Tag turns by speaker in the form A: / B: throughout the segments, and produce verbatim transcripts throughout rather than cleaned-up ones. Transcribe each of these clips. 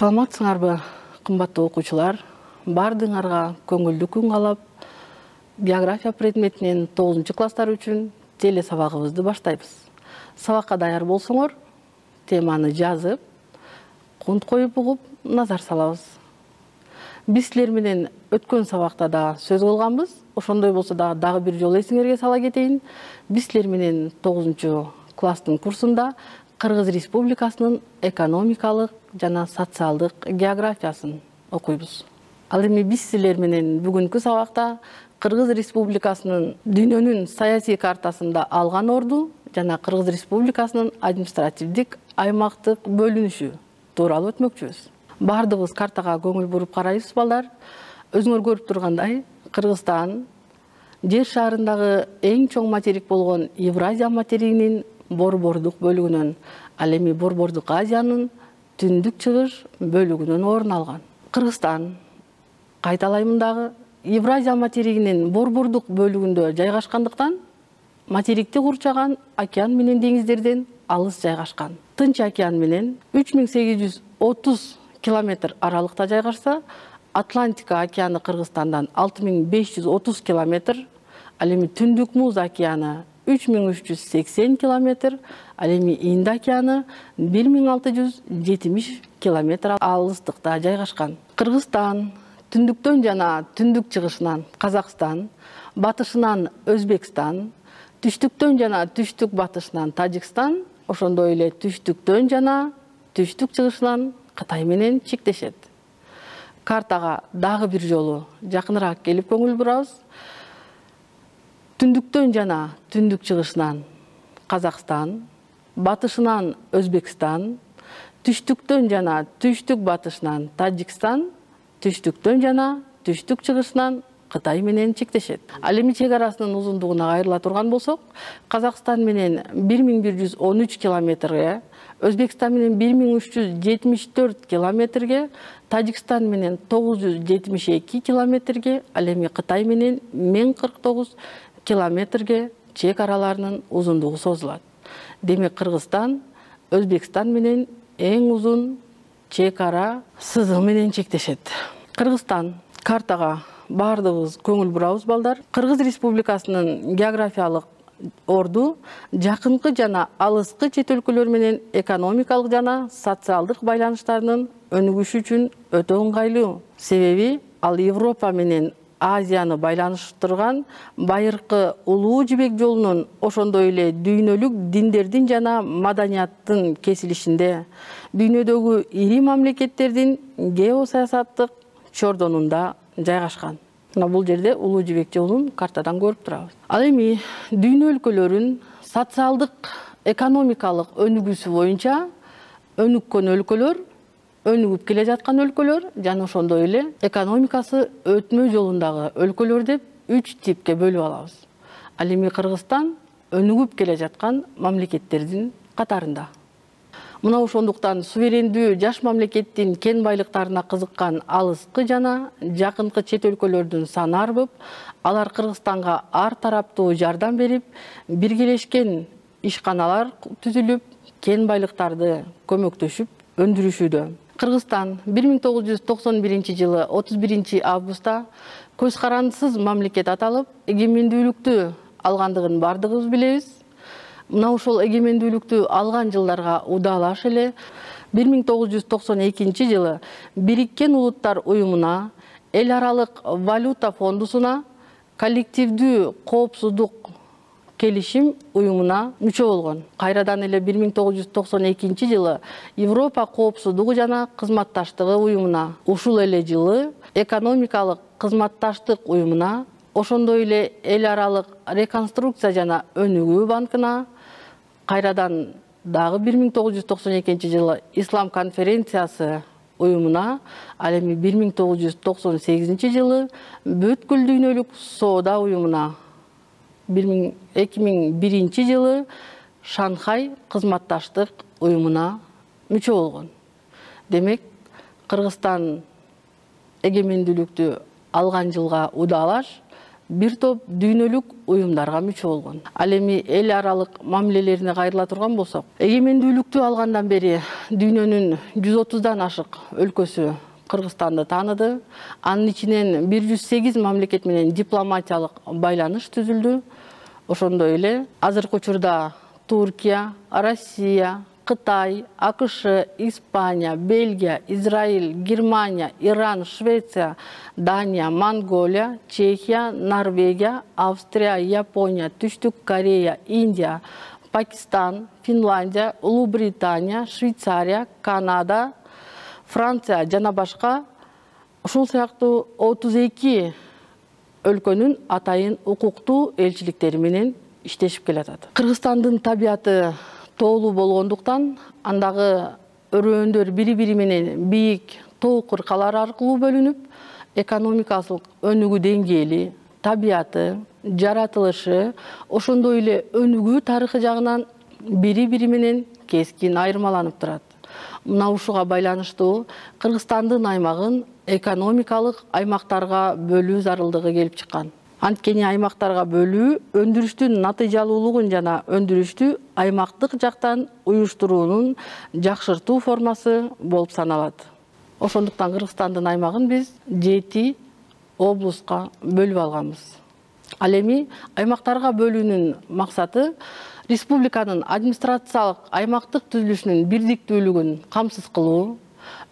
A: Саламатсыңарбы, кымбаттуу окуучулар? Бардыңарга көңүлдүү күн каалап, география предметинин тогузунчу класстар үчүн теле сабагыбызды баштайбыз. Сабакка даяр болсоңор, теманы жазып, кунт коюп угуп, назар салабыз. Биз силер менен өткөн сабакта да сөз кылганбыз. Ошондой болсо да дагы бир жолу эсиңерге сала кетейин. Биз силер менен тогузунчу класстын курсунда Кыргыз Республикасынын экономикалык жана социалдык географиясын окуйбуз. Ал эми биз силер менен бүгүнкү сабакта Кыргыз Республикасынын дүйнөнүн саясий картасында алган орду жана Кыргыз Республикасынын административдик аймактык бөлүнүшү тууралуу өтмөкчүбүз. Бардыгыбыз картага көңүл буруп карайбыз балдар. Өзүңөр көрүп тургандай, Кыргызстан жер шарындагы эң чоң материк болгон Евразия материгинин борбордук бөлүгүнөн, ал эми борбордук Азиянын түндүк чыгыш бөлүгүнөн орун алган. Кыргызстан, кайталайм дагы, Евразия материгинин борбордук бөлүгүндө жайгашкандыктан материкти курчаган океан менен деңиздерден алыс жайгашкан. Тынч океан менен үч миң сегиз жүз отуз километр аралыкта жайгашса, Атлантика океаны Кыргызстандан алты миң беш жүз отуз километр, ал эми Түндүк муз океаны үч миң үч жүз сексен километр, ал эми Инд океаны бир миң алты жүз жетимиш километр алыстыкта жайгашкан. Кыргызстан түндүктөн жана түндүк чыгышынан Казакстан, батышынан Өзбекстан, түштүктөн жана түштүк батышынан Тажикстан, ошондой эле түштүктөн жана түштүк чыгышынан Кытай менен чектешет. Картага дагы бир жолу жакыныраак келип көңүл бурабыз. Түндүктөн жана түндүк чыгышынан Казакстан, батышынан Өзбекстан, түштүктөн жана түштүк батышынан Тажикстан, түштүктөн жана түштүк чыгышынан Кытай менен чектешет. Ал эми чек арасынын узундугуна кайрыла турган болсок, Казакстан менен бир миң бир жүз он үч километрге, Өзбекстан менен бир миң үч жүз жетимиш төрт километрге, Тажикстан менен тогуз жүз жетимиш эки километрге, ал эми Кытай менен миң кырк тогуз километрге чек араларынын узундугу созулат. Демек Кыргызстан Өзбекстан менен эң узун чек ара сызыгы менен чектешет. Кыргызстан картага бардыгыбыз көңүл бурабыз балдар. Кыргыз Республикасынын географиялык орду жакынкы жана алыскы чет өлкөлөр менен экономикалык жана социалдык байланыштарынын өнүгүшү үчүн өтө ыңгайлуу. Себеби ал Европа менен Азияны байланыштырган байыркы улуу жибек жолунун, ошондой эле дүйнөлүк диндердин жана маданияттын кесилишинде, дүйнөдөгү ири мамлекеттердин геосаясаттык чордонунда жайгашкан. Мына бул жерде улуу жибек жолун картадан көрүп турабыз. Ал эми дүйнө өлкөлөрүн социалдык, экономикалык өнүгүүсү боюнча өнүккөн өлкөлөр, өнүгүп келе жаткан өлкөлөр жана ошондой эле экономикасы өтмө жолундагы өлкөлөр деп үч типке бөлүп алабыз. Ал эми Кыргызстан өнүгүп келе жаткан мамлекеттердин катарында. Мына ошондуктан суверендүү жаш мамлекеттин кен байлыктарына кызыккан алыскы жана жакынкы чет өлкөлөрдүн саны арбып, алар Кыргызстанга ар тараптуу жардам берип, биргелешкен ишканалар түзүлүп, кен байлыктарды көмөктөшүп өндүрүшүүдө. Кыргызстан бир миң тогуз жүз токсон биринчи жылы отуз биринчи августта көз карандысыз мамлекет аталып, эгемендүүлүктү алгандыгын бардыгыбыз билебиз. Мына ошол эгемендүүлүктү алган жылдарга удаалаш эле бир миң тогуз жүз токсон экинчи жылы Бириккен Улуттар уюмуна, эл аралык валюта фондусуна, коллективдүү коопсуздук келишим уюмуна мүчө болгон. Кайрадан эле бир миң тогуз жүз токсон экинчи жылы Европа коопсуздугу жана кызматташтыгы уюмуна, ушул эле жылы экономикалык кызматташтык уюмуна, ошондой эле эл аралык реконструкция жана өнүгүү банкына, кайрадан дагы бир миң тогуз жүз токсон экинчи жылы Ислам конференциясы уюмуна, ал эми бир миң тогуз жүз токсон сегизинчи жылы бүткүл дүйнөлүк соода уюмуна, эки миң биринчи жылы Шанхай кызматташтык уюмуна мүчө болгон. Демек, Кыргызстан эгемендүүлүктү алган жылга удаалаш бир топ дүйнөлүк уюмдарга мүчө болгон. Ал эми эл аралык мамилелерине кайрыла турган болсок, эгемендүүлүктү алгандан бери дүйнөнүн жүз отуздан ашык өлкөсү Кыргызстанды тааныды. Анын ичинен бир жүз сегиз мамлекет менен дипломатиялык байланыш түзүлдү. Ошондой эле азыркы учурда Туркия, Россия, Кытай, АКШ, Испания, Бельгия, Израиль, Германия, Иран, Швеция, Дания, Монголия, Чехия, Норвегия, Австрия, Япония, Түштүк Корея, Индия, Пакистан, Финляндия, Улуу Британия, Швейцария, Канада, Франция жана башка ушул сыяктуу отуз эки өлкөнүн атайын укуктуу элчиликтери менен иштешип келатат. Кыргызстандын табияты тоолуу болгондуктан андагы өрөөндөр бири-бири менен бийик тоо кыркалар аркылуу бөлүнүп, экономикалык өнүгүү деңгээли, табияты, жаратылышы, ошондой эле өнүгүү тарыхы жагынан бири-бири менен кескин айырмаланып турат. Мына ушуга байланыштуу Кыргызстандын аймагын экономикалык аймактарга бөлүү зарылдыгы келип чыккан. Анткени аймактарга бөлүү өндүрүштүн натыйжалуулугун жана өндүрүштү аймактык жактан уюштуруунун жакшыртуу формасы болуп саналат. Ошондуктан Кыргызстандын аймагын биз жети облуска бөлүп алганбыз. Ал эми аймактарга бөлүүнүн максаты республиканын администрациялык аймактык түзүлүшүнүн бирдиктүүлүгүн камсыз кылуу,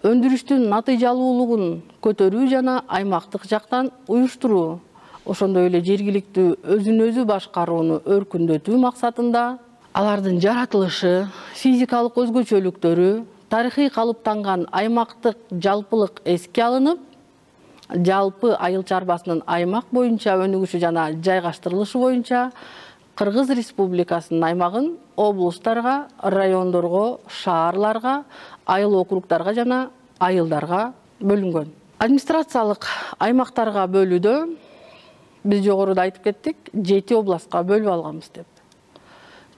A: өндүрүштүн натыйжалуулугун көтөрүү жана аймактык жактан уюштуруу, ошондой эле жергиликтүү өзүн өзү башкарууну өркүндөтүү максатында алардын жаратылышы, физикалык өзгөчөлүктөрү, тарыхый калыптанган аймактык жалпылык эске алынып, жалпы айыл чарбасынын аймак боюнча өнүгүшү жана жайгаштырылышы боюнча Кыргыз Республикасынын аймагын облустарга, райондорго, шаарларга, айыл округдарга жана айылдарга бөлүнгөн. Администрациялык аймактарга бөлүүдө биз жогоруда айтып кеттик, жети областка бөлүп алганбыз деп.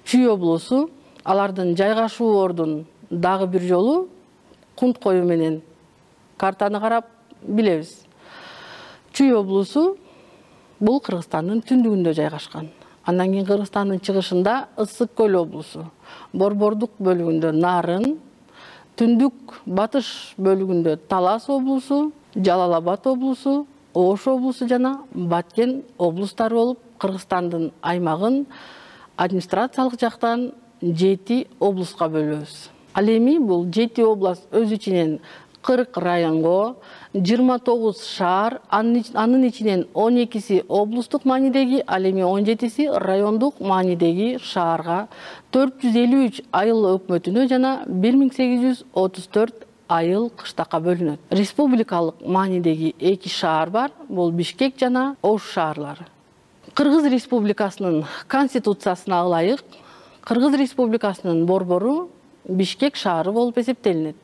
A: Чүй облусу, алардын жайгашуу ордун дагы бир жолу кунт коюу менен картаны карап билебиз. Чүй облусу бул Кыргызстандын түндүгүндө жайгашкан. Андан кийин Кыргызстандын чыгышында Ысык көл облусу, Борбордук бөлүгүндө Нарын, түндүк батыш бөлүгүндө Талас облусу, Жалал Абад облусу, Ош облусу жана Баткен облустары болуп, Кыргызстандын аймагын администрациялык жактан жети облуска бөлөбүз. Ал эми бул жети област өз ичинен кырк районго, жыйырма тогуз шаар, анын ичинен он экиси облустук маанидеги, ал эми он жетиси райондук маанидеги шаарга, төрт жүз элүү үч айыл өкмөтүнө жана бир миң сегиз жүз отуз төрт айыл кыштакка бөлүнөт. Республикалык маанидеги эки шаар бар, бул Бишкек жана Ош шаарлары. Кыргыз Республикасынын конституциясына ылайык, Кыргыз Республикасынын борбору Бишкек шаары болуп эсептелинет.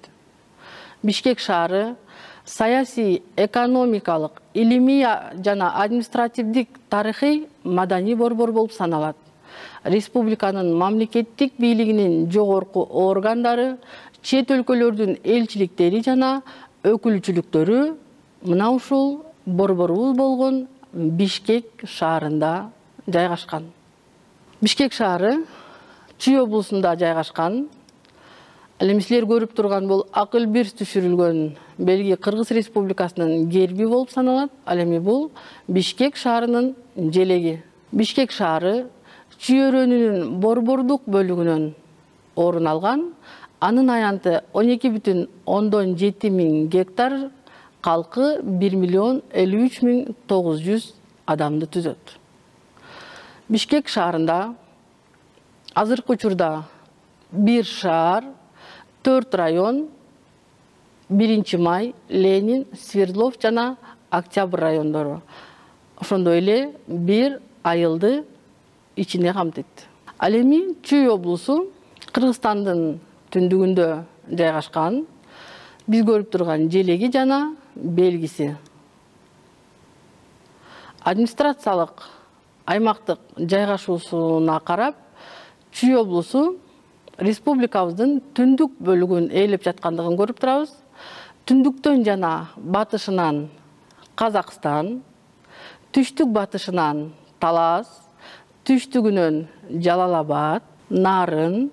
A: Бишкек шаары саясий, экономикалык, илимий жана административдик тарыхый маданий борбор болуп саналат. Республиканын мамлекеттик бийлигинин жогорку органдары, чет өлкөлөрдүн элчиликтери жана өкүлчүлүктөрү мына ушул борборубуз болгон Бишкек шаарында жайгашкан. Бишкек шаары Чүй облусунда жайгашкан. Ал эми силер көрүп турган бул акыл бир түшүрүлгөн белги Кыргыз Республикасынын герби болуп саналат. Ал эми бул Бишкек шаарынын желеги. Бишкек шаары Чүй өрөөнүнүн борбордук бөлүгүнөн орун алган. Анын аянты он эки бүтүн ондон жети миң гектар, калкы бир миллион элүү үч миң тогуз жүз адамды түзөт. Бишкек шаарында азыркы учурда бир шаар, төрт район, биринчи май, Ленин, Свердлов жана Октябрь райондору. Ошондой эле бир айылды ичине камтыйт. Ал эми Чүй облусу Кыргызстандын түндүгүндө жайгашкан. Биз көрүп турган желеги жана белгиси. Администрациялык аймактык жайгашуусуна карап, Чүй облусу республикабыздын түндүк бөлүгүн ээлеп жаткандыгын көрүп турабыз. Түндүктөн жана батышынан Казакстан, түштүк батышынан Талас, түштүгүнөн Жалал Абад, Нарын,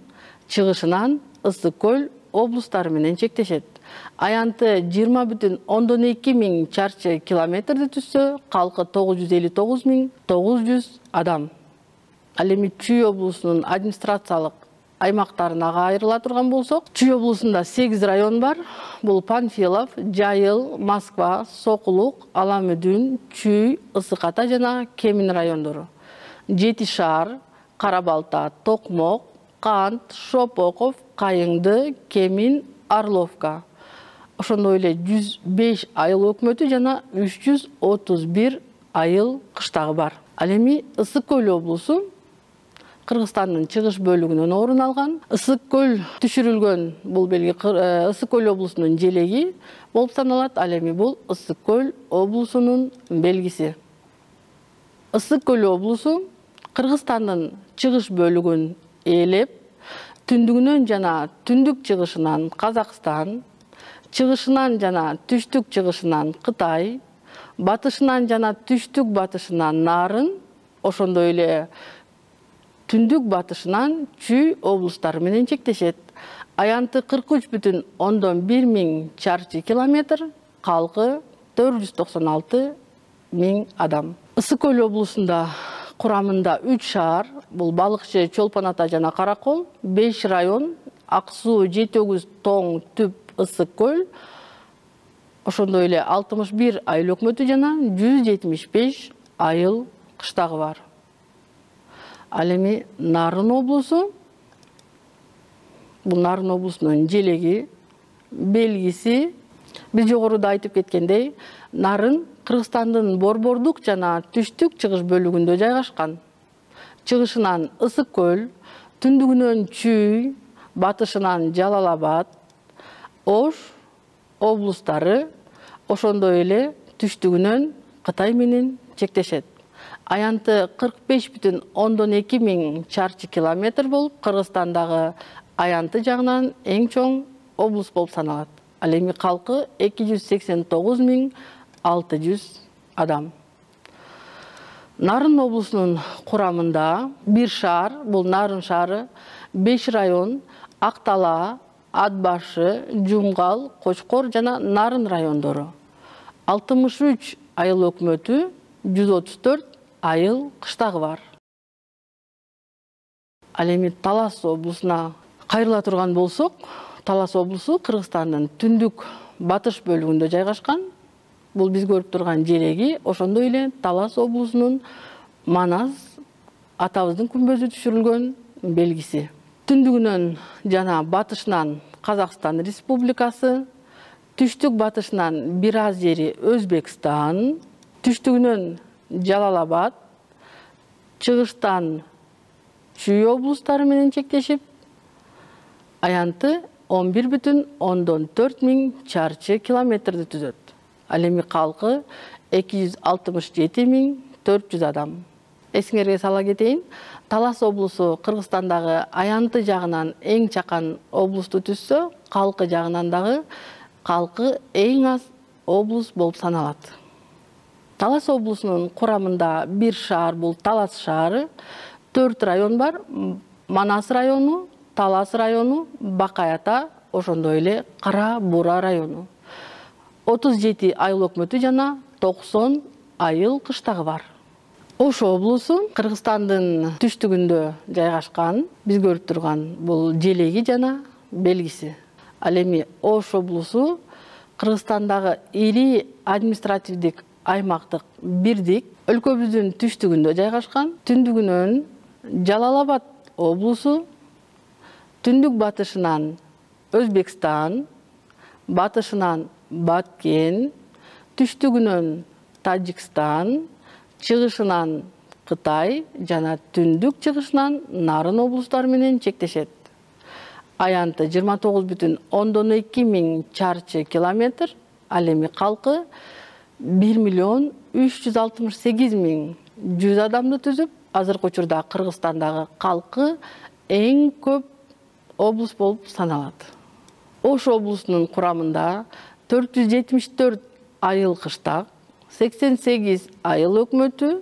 A: чыгышынан Ысык көл облустары менен чектешет. Аянты жыйырма бүтүн ондон эки миң чарчы километрди түзсө, калкы тогуз жүз элүү тогуз миң тогуз жүз адам. Ал эми Чүй облусунун администрациялык аймактарына айрыла турган болсок, Чүй облусунда сегиз район бар. Бул Панфилов, Жайыл, Москва, Сокулук, Аламүдүн, Чүй, Ысык Ата жана Кемин райондору. Жети шаар, Кара Балта, Токмок, Кант, Шопоков, Кайыңды, Кемин, Орловка. Ошондой эле жүз беш айыл өкмөтү жана үч жүз отуз бир айыл кыштагы бар. Ал эми Ысык көл облусу Кыргызстандын чыгыш бөлүгүнөн орун алган. Ысык көл түшүрүлгөн бул белги Ысык көл облусунун желеги болуп саналат. Ал эми бул Ысык көл облусунун белгиси. Ысык көл облусу Кыргызстандын чыгыш бөлүгүн ээлеп, түндүгүнөн жана түндүк чыгышынан Казакстан, чыгышынан жана түштүк чыгышынан Кытай, батышынан жана түштүк батышынан Нарын, ошондой эле түндүк батышынан Чүй облустары менен чектешет. Аянты кырк үч бүтүн ондон бир миң чарчы километр, калкы төрт жүз токсон алты миң адам. Ысык көл облусунда курамында үч шаар, бул Балыкчы, Чолпон Ата жана Каракол, беш район, Ак суу, Жети өгүз, Тоң, Түп, Ысык көл, ошондой эле алтымыш бир айыл өкмөтү жана жүз жетимиш беш айыл кыштагы бар. Ал эми Нарын облусу, бул Нарын облусунун желеги, белгиси, биз жогоруда айтып кеткендей, Нарын Кыргызстандын Борбордук жана түштүк чыгыш бөлүгүндө жайгашкан. Чыгышынан Ысык көл, түндүгүнөн Чүй, батышынан Жалал Абад, Ош облустары, ошондой эле түштүгүнөн Кытай менен чектешет. Аянты кырк беш бүтүн ондон эки миң чарчы километр болуп, Кыргызстандагы аянты жагынан эң чоң облус болуп саналат. Ал эми калкы эки жүз сексен тогуз миң алты жүз адам. Нарын облусунун курамында бир шаар, бул Нарын шаары, беш район, Актала, Ат башы, Жумгал, Кочкор жана Нарын райондору. алтымыш үч айыл өкмөтү, жүз отуз төрт айыл кыштагы бар. Ал эми Талас облусуна кайрыла турган болсок, Талас облусу Кыргызстандын түндүк батыш бөлүгүндө жайгашкан. Бул биз көрүп турган желеги, ошондой эле Талас облусунун Манас атабыздын күмбөзү түшүрүлгөн белгиси. Түндүгүнөн жана батышынан Казакстан Республикасы, түштүк батышынан бир аз жери Өзбекстан, түштүгүнөн Жалал Абад, чыгыштан Чүй облустары менен чектешип, аянты он бир бүтүн ондон төрт миң чарчы километрди түзөт. Ал эми калкы эки жүз алтымыш жети миң төрт жүз адам. Эсиңерге сала кетейин, Талас облусу Кыргызстандагы аянты жагынан эң чакан облусту түзсө, калкы жагынан дагы калкы эң аз облус болуп саналат. Талас облусунун курамында бир шаар, бул Талас шаары, төрт район бар, Манас району, Талас району, Бакай Ата, ошондой эле Кара Бура району. отуз жети айыл өкмөтү жана токсон айыл кыштагы бар. Ош облусу Кыргызстандын түштүгүндө жайгашкан, биз көрүп турган бул желеги жана белгиси. Ал эми Ош облусу Кыргызстандагы ири административдик аймактык бирдик, өлкөбүздүн түштүгүндө жайгашкан. Түндүгүнөн Жалал Абад облусу, түндүк батышынан Өзбекстан, батышынан Баткен, түштүгүнөн Тажикстан, чыгышынан Кытай жана түндүк чыгышынан Нарын облустары менен чектешет. Аянты жыйырма тогуз бүтүн ондон эки миң чарчы километр, ал эми калкы бир миллион үч жүз алтымыш сегиз миң жүз адамды түзүп, азыркы учурда Кыргызстандагы калкы эң көп облус болуп саналат. Ош облусунун курамында төрт жүз жетимиш төрт айыл кыштак, сексен сегиз айыл өкмөтү,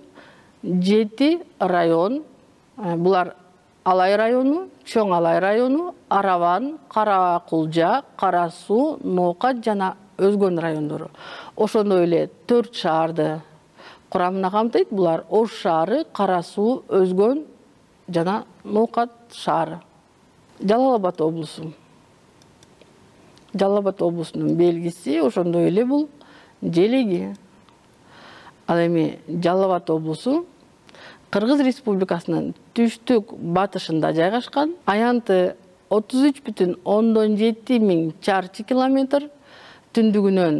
A: жети район, булар Алай району, Чоң Алай району, Араван, Кара Кулжа, Кара Суу, Ноокат жана өзгөн райондору. Ошондой эле төрт шаарды курамына камтыйт. Булар Ош шаары, Кара Суу, Өзгөн жана Ноокат шаары. Жалал Абад облусу. Жалал Абад облусунун белгиси ошондой эле бул желеги. Ал эми Жалал Абад облусу Кыргыз Республикасынын түштүк батышында жайгашкан. Аянты отуз үч бүтүн ондон жети миң чарчы километр, түндүгүнөн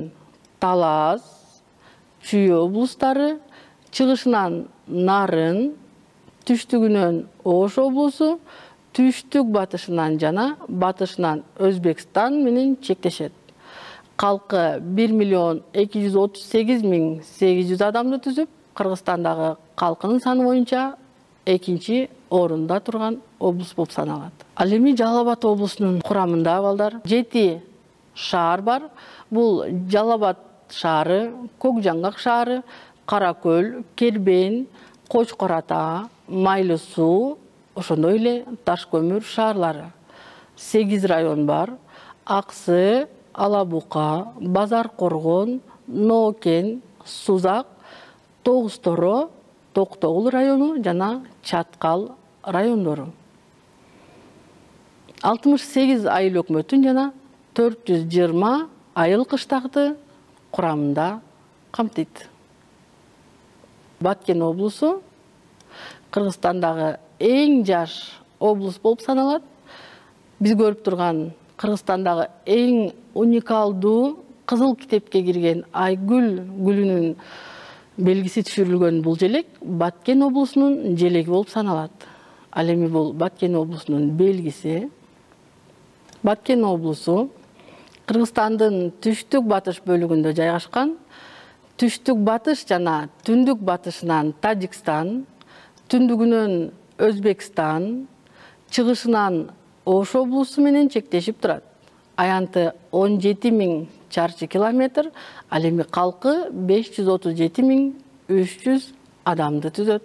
A: Талас, Чүй облустары, чыгышынан Нарын, түштүгүнөн Ош облусу, түштүк батышынан жана батышынан Өзбекстан менен чектешет. Калкы бир миллион эки жүз отуз сегиз миң сегиз жүз адамды түзүп, Кыргызстандагы калкынын саны боюнча экинчи орунда турган облус болуп саналат. Ал эми Жалал Абад облусунун курамында балдар жети шаар бар. Бул Жалал Абад шаары, Көк Жаңгак шаары, Кара Көл, Кербен, Кочкор Ата, Майлы Суу, ошондой эле Таш көмүр шаарлары. сегиз район бар. Аксы, Алабука, Базар Коргон, Ноокен, Сузак, Тогуз Торо, Токтогул району жана Чаткал райондору. алтымыш сегиз айыл өкмөтүн жана төрт жүз жыйырма айыл кыштакты курамында камтыйт. Баткен облусу Кыргызстандагы эң жаш облус болуп саналат. Биз көрүп турган Кыргызстандагы эң уникалдуу кызыл китепке кирген Айгүл гүлүнүн белгиси түшүрүлгөн бул желек Баткен облусунун желеги болуп саналат. Ал эми бул Баткен облусунун белгиси. Баткен облусу Кыргызстандын түштүк батыш бөлүгүндө жайгашкан. Түштүк батыш жана түндүк батышынан Тажикстан, түндүгүнөн Өзбекстан, чыгышынан Ош облусу менен чектешип турат. Аянты он жети миң чарчы километр, ал эми калкы беш жүз отуз жети миң үч жүз адамды түзөт.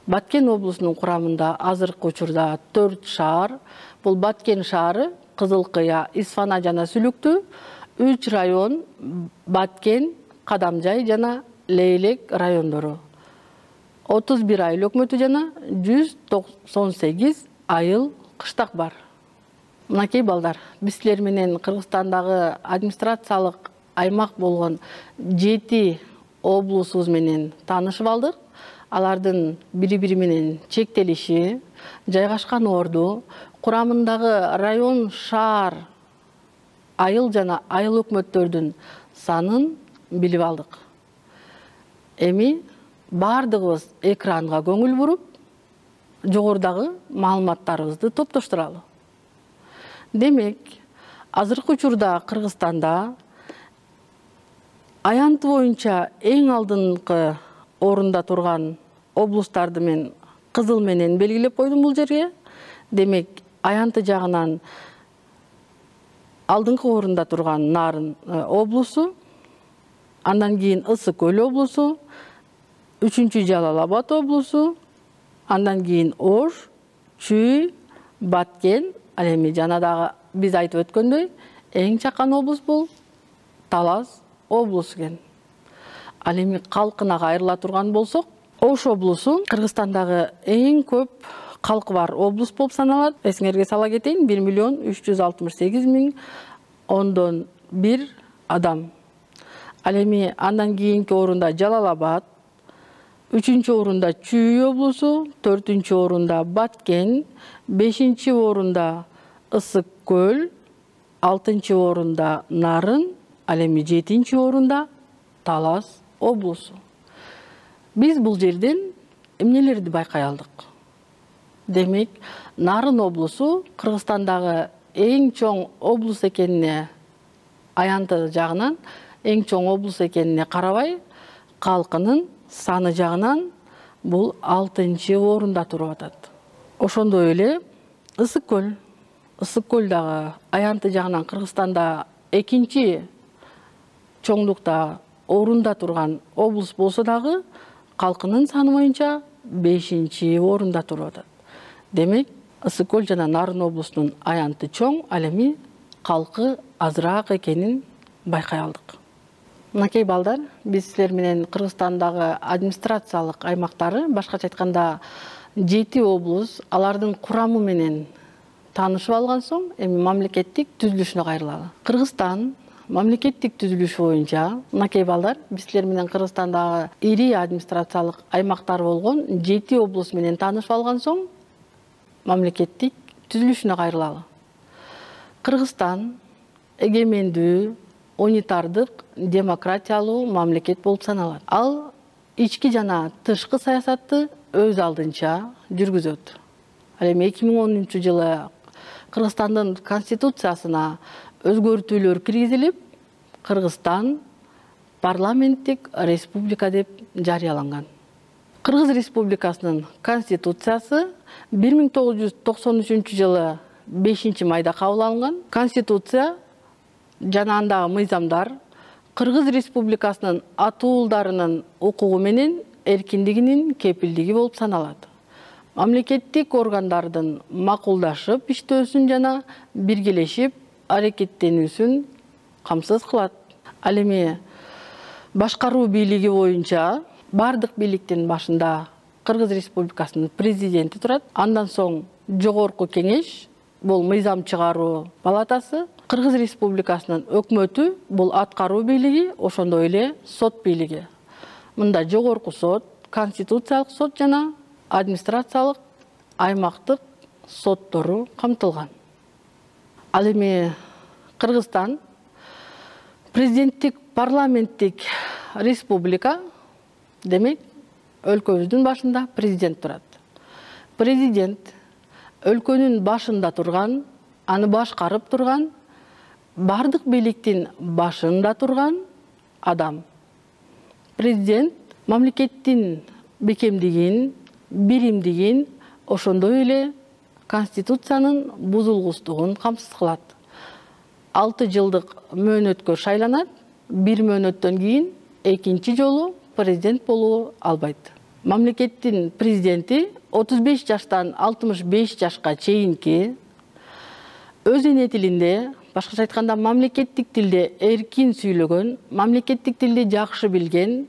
A: Баткен облусунун курамында азыркы учурда төрт шаар. Бул Баткен шаары, Кызылкыя, Исфана жана Сүлүктүү, үч район Баткен, Кадамжай жана Лейлек райондору. отуз бир айыл өкмөтү жана жүз токсон сегиз айыл кыштак бар. Мынакей балдар, биз силер менен Кыргызстандагы администрациялык аймак болгон жети облусубуз менен таанышып алдык. Алардын бири-бири менен чектелиши, жайгашкан орду, курамындагы район, шаар, айыл жана айыл өкмөттөрдүн санын билип алдык. Эми бардыгыбыз экранга көңүл буруп, жогорудагы маалыматтарыбызды топтоштуралы. Демек, азыркы учурда Кыргызстанда аянты боюнча эң алдыңкы орунда турган облустарды мен кызыл менен белгилеп койдум бул жерге. Демек, аянты жагынан алдыңкы орунда турган Нарын облусу, андан кийин Ысык Көл облусу, үчүнчү Жалал Абад облусу, андан кийин Ош, Чүй, Баткен, ал эми жана дагы биз айтып өткөндөй, эң чакан облус бул Талас облусу экен. Ал эми калкына кайрыла турган болсок, Ош облусу Кыргызстандагы эң көп калкы бар облус болуп саналат. Эсиңерге сала кетейин, бир миллион үч жүз алтымыш сегиз миң ондон бир адам. Ал эми андан кийинки орунда Жалал Абад, үчүнчү орунда Чүй облусу, төртүнчү орунда Баткен, бешинчи орунда Ысык Көл, алтынчы орунда Нарын, ал эми жетинчи орунда Талас облусу. Биз бул жерден эмнелерди байкай алдык? Демек, Нарын облусу Кыргызстандагы эң чоң облус экенине, аянты жагынан эң чоң облус экенине карабай, калкынын саны жагынан бул алтынчы орунда туруп атат. Ошондой эле Ысык Көл. Ысык Көл дагы аянты жагынан Кыргызстанда экинчи чоңдукта орунда турган облус болсо дагы калкынын саны боюнча бешинчи орунда туруп атат. Демек, Ысык көл жана Нарын облусунун аянты чоң, ал эми калкы азыраак экенин байкай алдык. Мынакей балдар, биз силер менен Кыргызстандагы администрациялык аймактары, башкача айтканда жети облус, алардын курамы менен таанышып алган соң, эми мамлекеттик түзүлүшүнө кайрылалы. Кыргызстан мамлекеттик түзүлүшү боюнча, мынакей балдар, биз силер менен Кыргызстандагы ири администрациялык аймактар болгон жети облус менен таанышып алган соң, мамлекеттик түзүлүшүнө кайрылалы. Кыргызстан эгемендүү, унитардык, демократиялуу мамлекет болуп саналат. Ал ички жана тышкы саясатты өз алдынча жүргүзөт. Ал эми эки миң онунчу жылы Кыргызстандын конституциясына өзгөртүүлөр киргизилип, Кыргызстан парламенттик республика деп жарыяланган. Кыргыз Республикасынын конституциясы бир миң тогуз жүз токсон үчүнчү жылы бешинчи майда кабыл алынган. Конституция жана андагы мыйзамдар Кыргыз Республикасынын атуулдарынын укугу менен эркиндигинин кепилдиги болуп саналат. Мамлекеттик органдардын макулдашып иштөөсүн жана биргелешип аракеттенүүсүн камсыз кылат. Ал эми башкаруу бийлиги боюнча бардык бийликтин башында Кыргыз Республикасынын президенти турат. Андан соң жогорку кеңеш, бул мыйзам чыгаруу палатасы, Кыргыз Республикасынын өкмөтү, бул аткаруу бийлиги, ошондой эле сот бийлиги. Мында жогорку сот, конституциялык сот жана администрациялык аймактык соттору камтылган. Ал эми Кыргызстан президенттик парламенттик республика, демек өлкөбүздүн башында президент турат. Президент өлкөнүн башында турган, аны башкарып турган, бардык бийликтин башында турган адам. Президент мамлекеттин бекемдигин, биримдигин, ошондой эле конституциянын бузулгустугун камсыз кылат. алты жылдык мөөнөткө шайланат, бир мөөнөттөн кийин экинчи жолу президент болуу албайт. Мамлекеттин президенти отуз беш жаштан алтымыш беш жашка чейинки өз эне тилинде, башкача айтканда мамлекеттик тилде эркин сүйлөгөн, мамлекеттик тилди жакшы билген,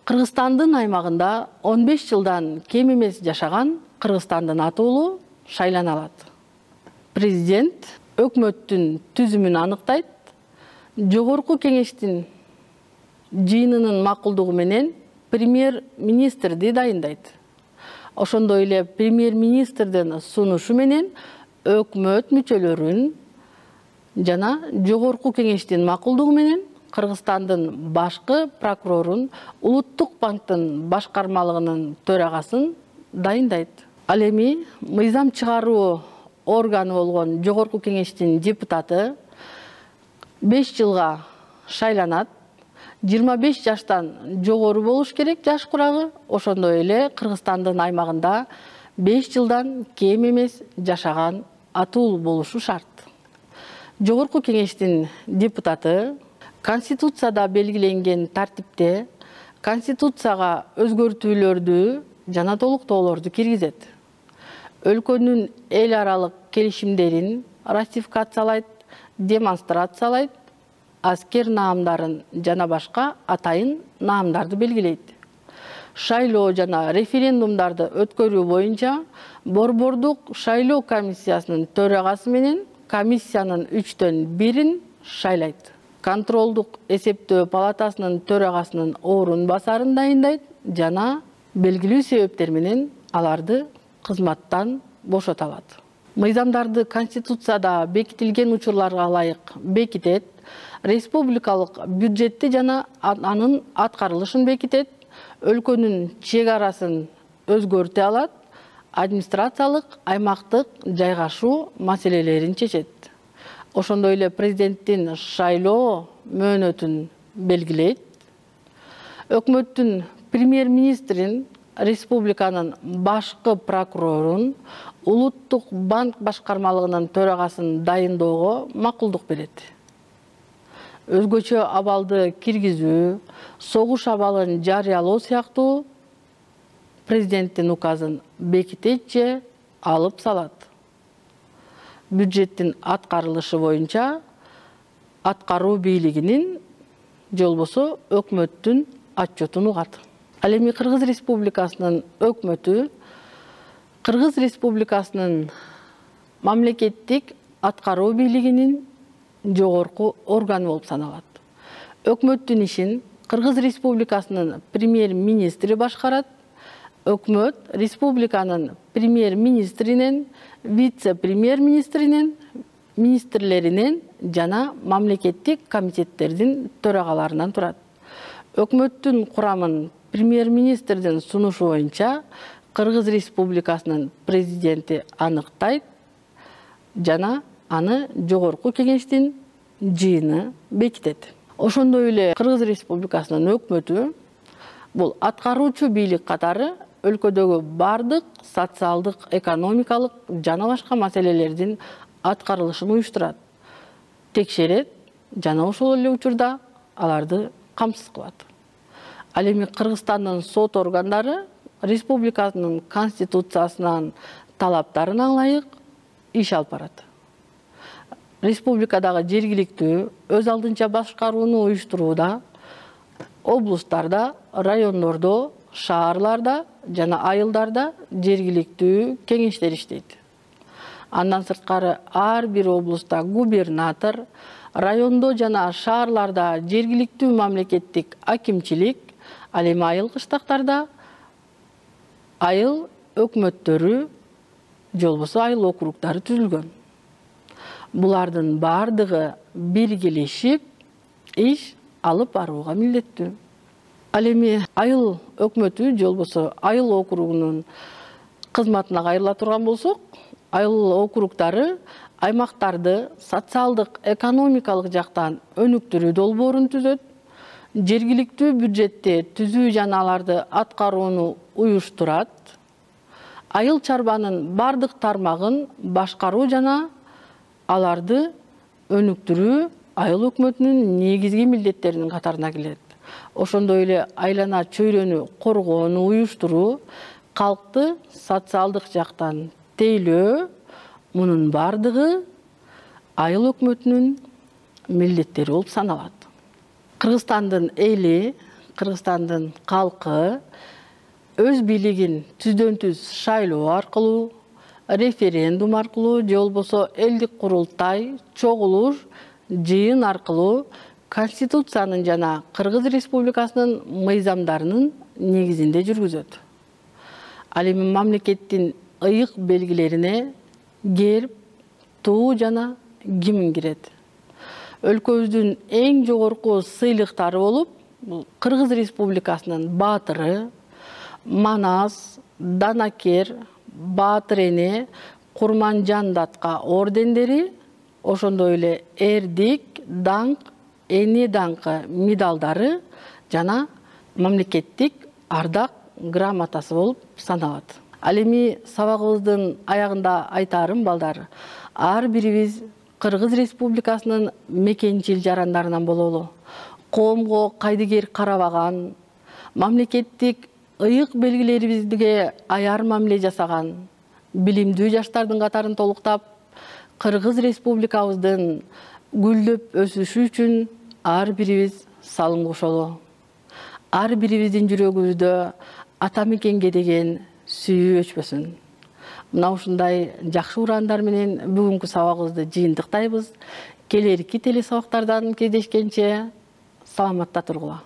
A: Кыргызстандын аймагында он беш жылдан кем эмес жашаган Кыргызстандын атуулу шайлана алат. Президент өкмөттүн түзүмүн аныктайт, жогорку кеңештин жыйынынын макулдугу менен премьер-министрди дайындайт. Ошондой эле премьер-министрдин сунушу менен өкмөт мүчөлөрүн жана жогорку кеңештин макулдугу менен Кыргызстандын башкы прокурорун, Улуттук банктын башкармалыгынын төрагасын дайындайт. Ал эми мыйзам чыгаруу органы болгон жогорку кеңештин депутаты беш жылга шайланат. жыйырма беш жаштан жогору болуш керек жаш курагы, ошондой эле Кыргызстандын аймагында беш жылдан кем эмес жашаган атуу болушу шарт. Жогорку кеңештин депутаты Конституцияда белгиленген тартипте Конституцияга өзгөртүүлөрдү жана толуктоолорду киргизет. Өлкөнүн эл аралык келишимдерин ратификациялайт, демонстрациялайт, аскер наамдарын жана башка атайын наамдарды белгилейт. Шайлоо жана референдумдарды өткөрүү боюнча Борбордук шайлоо комиссиясынын төрагасы менен комиссиянын үчтөн бирин шайлайт. Контролдук эсептөө палатасынын төрагасынын орун басарын дайындайт жана белгилүү себептер менен аларды кызматтан бошото алат. Мыйзамдарды Конституцияда бекитилген учурларга ылайык бекитет, республикалык бюджетти жана анын аткарылышын бекитет, өлкөнүн чек арасын өзгөртө алат, администрациялык аймактык жайгашуу маселелерин чечет. Ошондой эле президенттин шайлоо мөөнөтүн белгилейт. Өкмөттүн премьер-министрин, республиканын башкы прокурорун, Улуттук банк башкармалыгынын төрагасын дайындоого макулдук берет. өзгөчө абалды киргизүү, согуш абалын жарыялоо сыяктуу президенттин указын бекитет же алып салат. Бюджеттин аткарылышы боюнча аткаруу бийлигинин же болбосо өкмөттүн отчетун угат. Ал эми Кыргыз Республикасынын өкмөтү Кыргыз Республикасынын мамлекеттик аткаруу бийлигинин жогорку органы болуп саналат. Өкмөттүн ишин Кыргыз Республикасынын премьер-министри башкарат. Өкмөт республиканын премьер-министринен, вице-премьер-министринен, министрлеринен жана мамлекеттик комитеттердин төрагаларынан турат. Өкмөттүн курамын премьер-министрдин сунушу боюнча Кыргыз Республикасынын президенти аныктайт жана аны жогорку кеңештин жыйыны бекитет. Ошондой эле Кыргыз Республикасынын өкмөтү бул аткаруучу бийлик катары өлкөдөгү бардык социалдык, экономикалык жана башка маселелердин аткарылышын уюштурат, текшерет жана ошол эле учурда аларды камсыз кылат. Ал эми Кыргызстандын сот органдары республиканын конституциясынын талаптарына ылайык иш алып барат. Республикадагы жергиликтүү өз алдынча башкарууну уюштурууда облустарда, райондордо, шаарларда жана айылдарда жергиликтүү кеңештер иштейт. Андан сырткары ар бир облуста губернатор, райондо жана шаарларда жергиликтүү мамлекеттик акимчилик, ал эми айыл кыштактарда айыл өкмөттөрү же болбосо айыл округдары түзүлгөн. Булардын бардыгы биргелешип иш алып барууга милдеттүү. Ал эми айыл өкмөтү же болбосо айыл округунун кызматына кайрыла турган болсок, айыл округдары аймактарды социалдык, экономикалык жактан өнүктүрүү долбоорун түзөт, жергиликтүү бюджетти түзүү жана аларды аткарууну уюштурат, айыл чарбанын бардык тармагын башкаруу жана аларды өнүктүрүү айыл өкмөтүнүн негизги милдеттеринин катарына кирет. Ошондой эле айлана чөйрөнү коргоону уюштуруу, калкты социалдык жактан тейлөө, мунун бардыгы айыл өкмөтүнүн милдеттери болуп саналат. Кыргызстандын эли, Кыргызстандын калкы өз бийлигин түздөн түз шайлоо аркылуу, референдум аркылуу же болбосо элдик курултай, чогулуш, жыйын аркылуу Конституциянын жана Кыргыз Республикасынын мыйзамдарынын негизинде жүргүзөт. Ал эми мамлекеттин ыйык белгилерине герб, туу жана гимн кирет. Өлкөбүздүн эң жогорку сыйлыктары болуп, Кыргыз Республикасынын баатыры, Манас, Данакер, Баатыр эне, Курманжан датка ордендери, ошондой эле эрдик, даңк, эне даңкы медалдары жана мамлекеттик ардак грамотасы болуп саналат. Ал эми сабагыбыздын аягында айтарым балдар, ар бирибиз Кыргыз Республикасынын мекенчил жарандарынан бололу. Коомго кайдыгер карабаган, мамлекеттик ыйык белгилерибизге аяр мамиле жасаган, билимдүү жаштардын катарын толуктап, Кыргыз Республикабыздын гүлдөп өсүшү үчүн ар бирибиз салым кошолу. Ар бирибиздин жүрөгүбүздө ата мекенге деген сүйүү өчпөсүн. Мына ушундай жакшы урандар менен бүгүнкү сабагыбызды жыйынтыктайбыз. Келерки телесабактардан кездешкенче саламатта тургула.